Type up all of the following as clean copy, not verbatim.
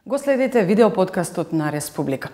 Го следите видеоподкастот на Республика.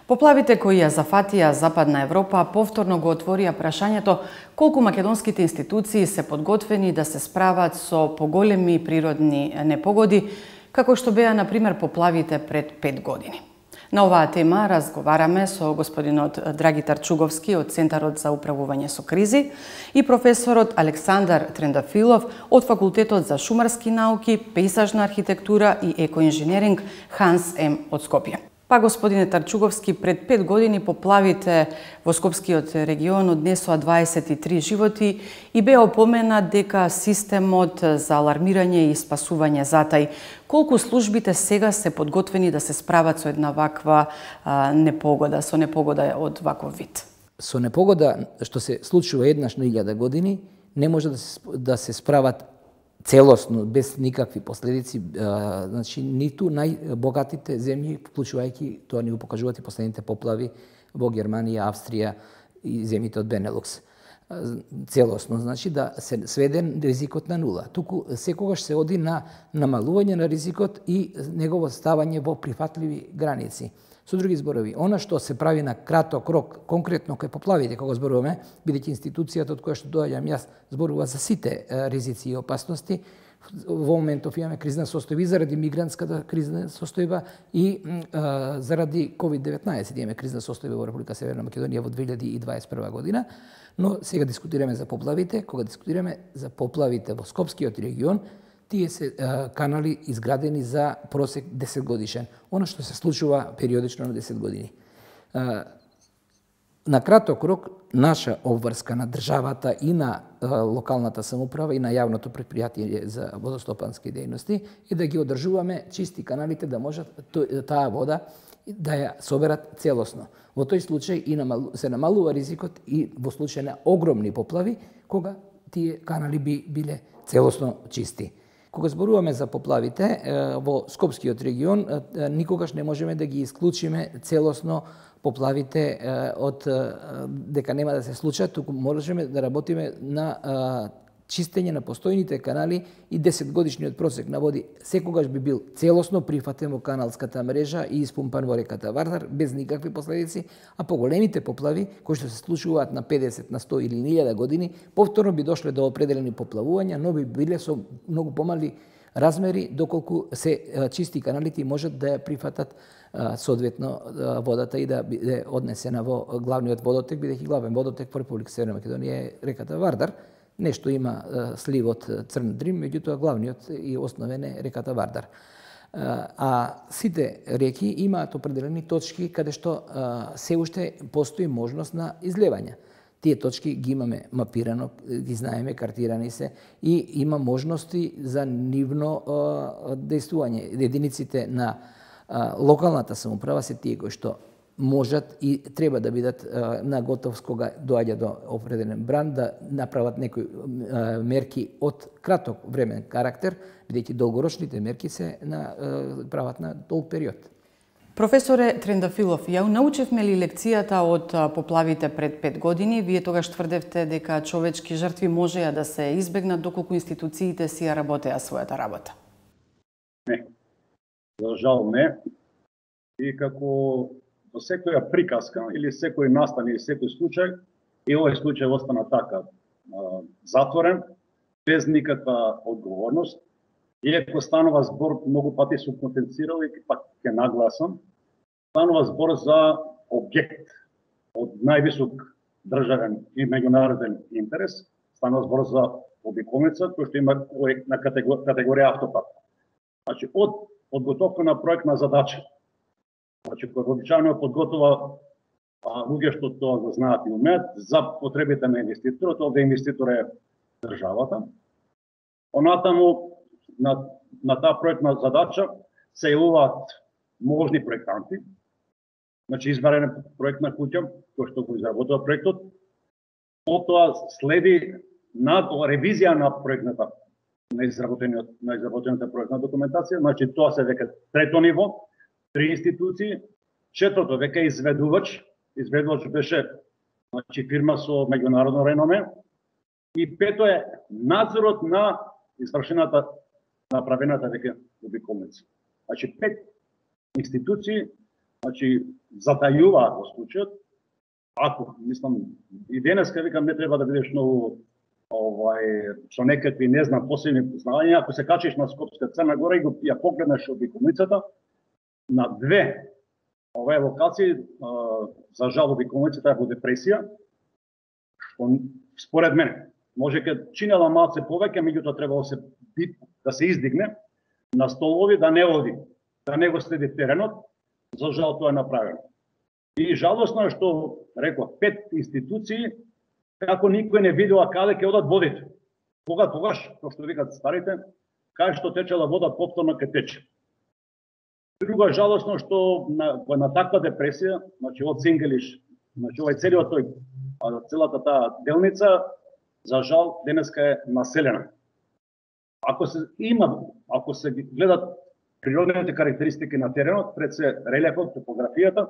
Поплавите кои ја зафатија Западна Европа повторно го отворија прашањето колку македонските институции се подготвени да се справат со поголеми природни непогоди, како што беа, например, поплавите пред 5 години. На оваа тема разговараме со господинот Драгитар Чуговски од Центарот за управување со кризи и професорот Александар Трендафилов од Факултетот за шумарски науки, пејзажна архитектура и екоинженеринг Ханс М од Скопје. Па, господине Тарчуговски, пред 5 години поплавите во Скопскиот регион однесоа 23 животи и беа опоменат дека системот за алармирање и спасување затај. Колку службите сега се подготвени да се справат со една ваква непогода, со непогода од ваков вид? Со непогода што се случува еднаш на 1000 години, не може да се справат целосно, без никакви последици, значи ниту најбогатите земји, вклучувајќи, тоа ни го покажуваат и последните поплави во Германија, Австрија и земјите од Бенелукс. Целосно, значи да се сведе ризикот на нула. Туку секогаш се оди на намалување на ризикот и негово ставање во прифатливи граници. Со други зборови, она што се прави на краток рок, конкретно кај поплавите, кога зборуваме, бидејќи институцијата од која што доаѓам јас зборува за сите ризици и опасности, во моментов имаме кризна состојба заради мигрантската кризна состојба и заради COVID-19 имаме кризна состојба во Република Северна Македонија во 2021 година, но сега дискутираме за поплавите. Кога дискутираме за поплавите во Скопскиот регион, тие се канали изградени за просек 10 годишен. Оно што се случува периодично на 10 години. На краток рок, наша обврска на државата и на локалната самоуправа и на јавното предпријатие за водостопански дејности е да ги одржуваме чисти каналите, да можат таа вода да ја соберат целосно. Во тој случај се намалува ризикот и во случај на огромни поплави, кога тие канали би биле целосно чисти. Кога зборуваме за поплавите во Скопскиот регион, никогаш не можеме да ги исклучиме целосно поплавите од дека нема да се случат, туку можеме да работиме на чистење на постојните канали и 10 годишниот просек на води секогаш би бил целосно прифатен во каналската мрежа и испумпан во реката Вардар без никакви последици, а поголемите поплави кои што се случуваат на 50, на 100 или 1000 години, повторно би дошле до определени поплавувања, но би биле со многу помали размери, доколку се чисти каналите и можат да ја прифатат соодветно водата и да биде однесена во главниот водотек, бидејќи главен водотек во Република Северна Македонија е реката Вардар. Нешто има сливот Црн Дрим, меѓутоа главниот и основен е реката Вардар. А сите реки имаат определени точки каде што се уште постои можност на излевање. Тие точки ги имаме мапирано, ги знаеме, картирани се и има можности за нивно дејствување. Единиците на локалната самоуправа се тие кои што можат и треба да бидат на готовност кога доаѓа до определен бран, да направат некои мерки од краток времен карактер, бидејќи долгорочните мерки се прават на долг период. Професоре Трендафилов, ја научевме ли лекцијата од поплавите пред 5 години? Вие тогаш тврдевте дека човечки жртви можеа да се избегнат доколку институциите си ја работеа својата работа. Не. За жал не. И како во секоја приказка или секој настан или секој случај, и овој случај остана така затворен, без никаква одговорност. Иако станува збор, многу пати сум потенцирал и пак ќе нагласам, станува збор за објект од највисок државен и меѓународен интерес, станува збор за обиколница кој што има на категорија автопат. Значи, од подготовка на проектна задача, значи, кој обичајно подготова луѓе што тоа го знаат и умеат за потребите на инвеститорот, овде инвеститор е државата. Онатаму на таа проектна задача се јавуваат можни проектанти, значи избрана проектна куќа кој што го изработува проектот. Потоа следи ревизија на проектната на изработената проектна документација, значи тоа се веќе трето ниво, 3 институции, четврто веќе изведувач беше значи фирма со меѓународно реноме, и пето е надзорот на извршената направената веќе обиколница. Значи 5 институции, значи затајуваат во случајот. Ако, мислам, и денеска викам не треба да бидеш многу со некакви, не знам, посебни познања, ако се качиш на Скопска Црна Гора и ја погледнеш обиколницата, на две овие локации, за жал обиколницата е во депресија, што според мене може ке чинела малце повеќе, меѓутоа требало да се издигне на столови, да не оди, да не го следи теренот, за жал тоа е направено. И жалосно е што, реков, 5 институции, како никој не видела каде ќе одат водите. Тогаш, како што викат старите, кај што течела вода, повторно ќе тече. Друго е жалосно што на таква депресија, значи од Сингелиш, значи овај целиот тој, целата таа делница, за жал денеска е населена. Ако се гледат природните карактеристики на теренот, пред се релефот, топографијата,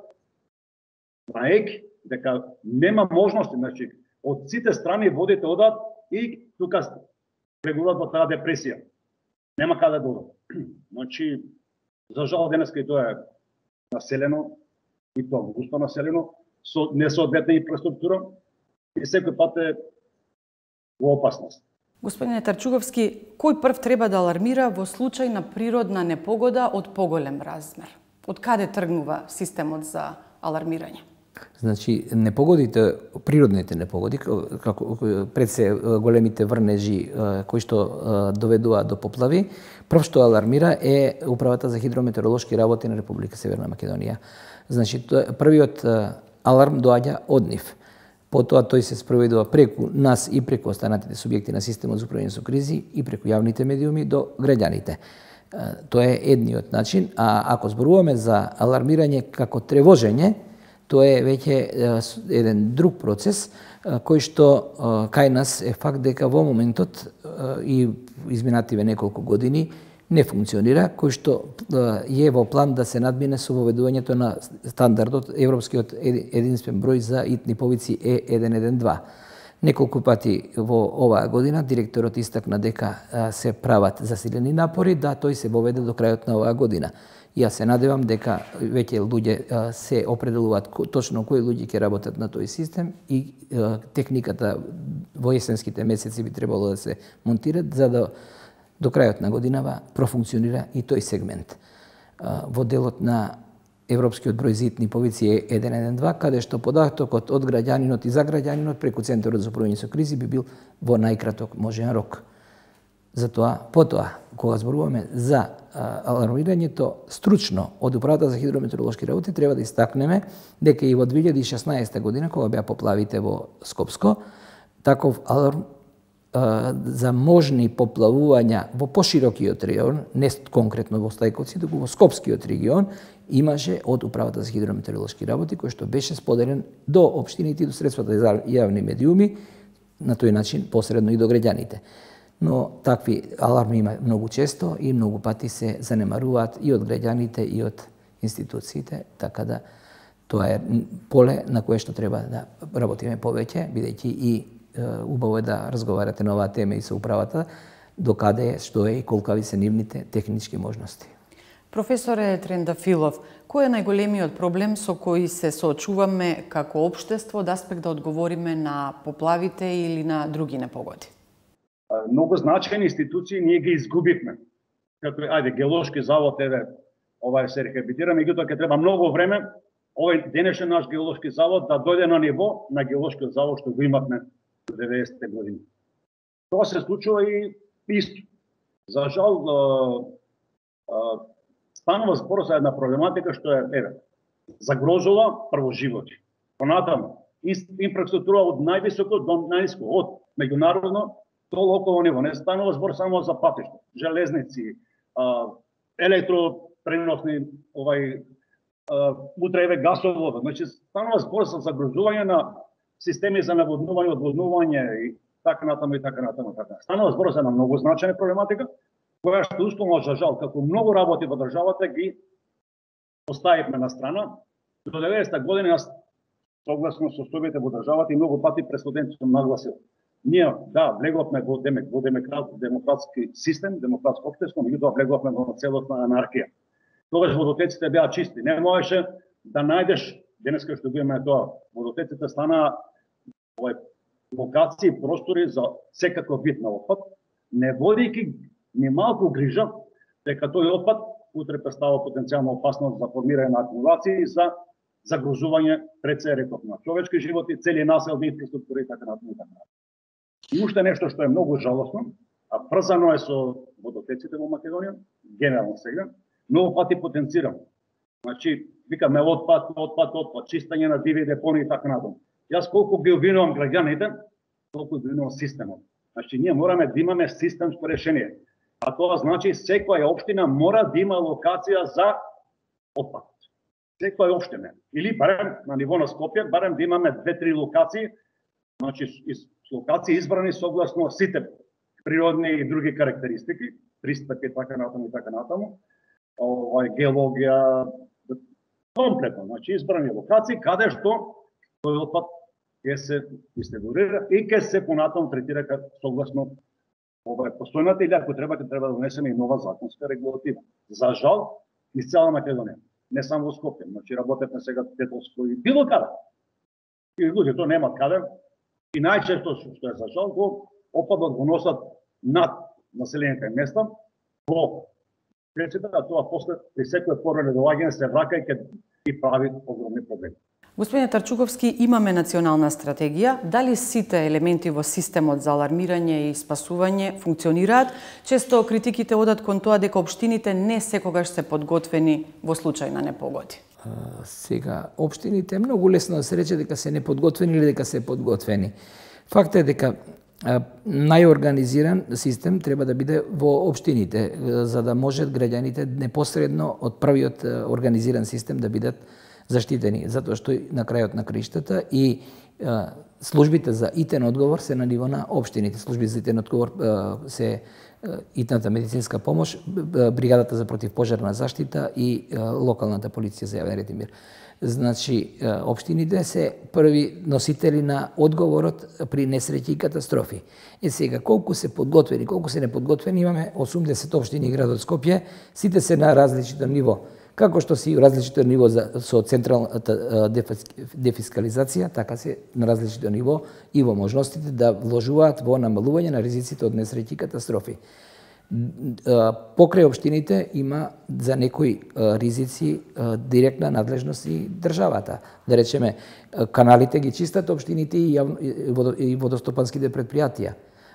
знаејќи дека нема можности, значи од сите страни водите одат и тука влегуваат во таа депресија. Нема каде да одат. Значи, за жал денеска и тоа е населено, и тоа густо населено, со несоодветна инфраструктура и секој пат е во опасност. Господине Тарчуговски, кој прв треба да алармира во случај на природна непогода од поголем размер? Од каде тргнува системот за алармирање? Значи, непогодите, природните непогоди, како пред се големите врнежи кои што доведуваат до поплави, прв што алармира е Управата за хидрометеоролошки работи на Република Северна Македонија. Значи, првиот аларм доаѓа од нив. Потоа тој се спроведува преку нас и преку останатите субјекти на системот за управување со кризи и преку јавните медиуми до граѓаните. Тоа е едниот начин, а ако зборуваме за алармирање како тревожење, тоа е веќе еден друг процес кој што кај нас е факт дека во моментот и изминативе неколку години не функционира, кој што е во план да се надмине со воведувањето на стандардот европскиот единствен број за итни повици E112. Неколку пати во оваа година директорот истакна дека се прават засилени напори да тој се воведе до крајот на оваа година. Јас се надевам дека веќе луѓе се определуваат точно кои луѓе ќе работат на тој систем и техниката во есенските месеци би требало да се монтират за да до крајот на годинава профункционира и тој сегмент. Во делот на европскиот број за итни повици е 112, каде што податокот од граѓанинот и за граѓанинот преку Центарот за управување со кризи би бил во најкраток можен рок. Затоа, потоа, кога зборуваме за алармирањето стручно од Управата за хидрометеоролошки работи, треба да истакнеме дека и во 2016 година, кога беа поплавите во Скопско, таков аларм за можни поплавувања во поширокиот регион, не конкретно во Стајковци, туку во Скопскиот регион, имаше од Управата за хидрометеоролошки работи, кој што беше споделен до општините и до средствата за јавни медиуми, на тој начин посредно и до граѓаните. Но такви аларми има многу често и многу пати се занемаруваат и од граѓаните и од институциите, така да тоа е поле на кое што треба да работиме повеќе, бидејќи и убаво е да разговарате на оваа тема и со управата, докаде е, што е и колкави се нивните технички можности. Професоре Трендафилов, кој е најголемиот проблем со кој се соочуваме како општество од аспект да одговориме на поплавите или на други непогоди? Многу значајни институции ние ги изгубивме. Како геолошки завод, ова се рехабилитира, меѓутоа ќе треба многу време овој денешен наш геолошки завод да дојде на ниво на геолошкиот завод што го имавме во 90-те години. Тоа се случува и исто. За жал, станува збор за една проблематика што е загрозува прво животи. Понатаму, инфраструктура од највисоко до најниско, од меѓународно до локално ниво. Не станува збор само за патишта, железници, електропреносни, утре гасовод. Значи, станува збор за загрозување на системи за наводнување, одводнување и така натаму и така натаму. Станува збор за една многу значајна проблематика, која што условно за жал, како многу работи во државата ги оставивме на страна. До 90-та година, согласно со состојбите во државата и многу пати пред студентите сум нагласил. Ние, да, влеговме во демократски систем, демократско општество, меѓутоа влеговме во целосна анархија. Тогаш водотеците беа чисти. Не можеше да најдеш, денеска што го имаме тоа, водотеците стана локации, простори за секаков вид на отпад, не водејќи ни малку грижа дека тој отпад утре представува потенцијална опасност за формирање на акумулации и за загрозување пред се реков на човечки животи, цели населни инфраструктури и така натаму. И уште нешто што е многу жалосно, а врзано е со водотеците во Македонија, генерално сега, многу пати потенцирам. Значи, викаме отпад, чистење на диви депони и така натаму. Јас колку ги обвинувам граѓаните, толку ги обвинувам системот. Значи, ние мораме да имаме системско решение. А тоа значи секоја општина мора да има локација за отпад. Секоја општина. Или барем на ниво на Скопје, барем да имаме 2-3 локации, значи локации избрани согласно сите природни и други карактеристики, пристапи и така натаму, геологија, комплетно, значи избрани локации каде што тој отпад ќе се дистрибуира и ќе се понатаму третира согласно постојната или ако треба да донесеме и нова законска регулатива. За жал, из цела Македонија, не само во Скопје, значи работевме сега Тетовско и било каде. И луѓето немаат каде. И најчесто што е за жал, отпадот го носат над населените места во речите, а тоа после при секој порано доаѓање се врака и прави огромни проблеми. Господине Тарчуковски, имаме национална стратегија. Дали сите елементи во системот за алармирање и спасување функционираат? Често критиките одат кон тоа дека општините не секогаш се подготвени во случај на непогоди. Сега, општините многу лесно да се рече дека се неподготвени или дека се подготвени. Факт е дека најорганизиран систем треба да биде во општините, за да можат граѓаните непосредно од првиот организиран систем да бидат заштитени, затоа што на крајот на краиштата и службите за итен одговор се на ниво на општините. Служби за итен одговор се итната медицинска помош, бригадата за противпожарна заштита и локалната полиција за јавен ред и мир. Значи, општините се први носители на одговорот при несреќи и катастрофи. Сега, колку се подготвени, колку се неподготвени, имаме 80 општини и градот Скопје, сите се на различито ниво. Како што си различито ниво со централната дефискализација, така се на различито ниво и во можностите да вложуваат во намалување на ризиците од несреќи и катастрофи. Покрај општините има за некои ризици директна надлежност и државата. Да речеме, каналите ги чистат општините и водостопанските предпријатија,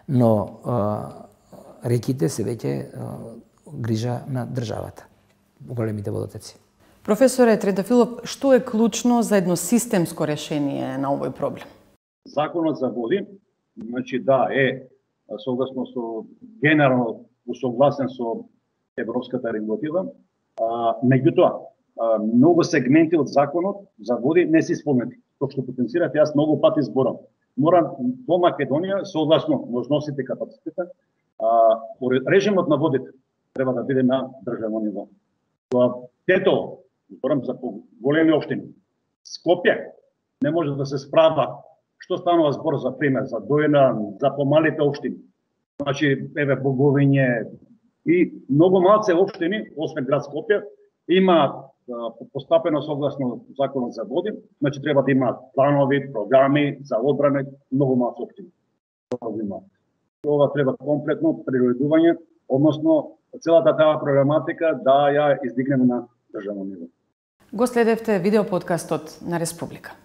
но реките се веќе грижа на државата. Големите водотеци. Професоре Тредофилов, што е клучно за едно системско решение на овој проблем? Законот за води, значи да, е согласно со генерално усогласен со европската регулатива, меѓутоа многу сегменти од законот за води не се исполнети. Тоа што потенцират, јас многу пати зборам. Мора во Македонија согласно можностите и капацитета, режимот на водите треба да биде на државно ниво. Тетово, зборам за големи општини, Скопје не може да се справа. Што станува збор за пример, за Дојна, за помалите општини. Значи, еве Боговиње и многу малце општини, освен град Скопје, имаат постапено согласно законот за води, значи треба да имаат планови, програми за одбрана, многу малце општини. Ова треба комплетно приредување, односно целата таа проблематика да ја издигнеме на државно ниво. Го следевте видеоподкастот на Республика.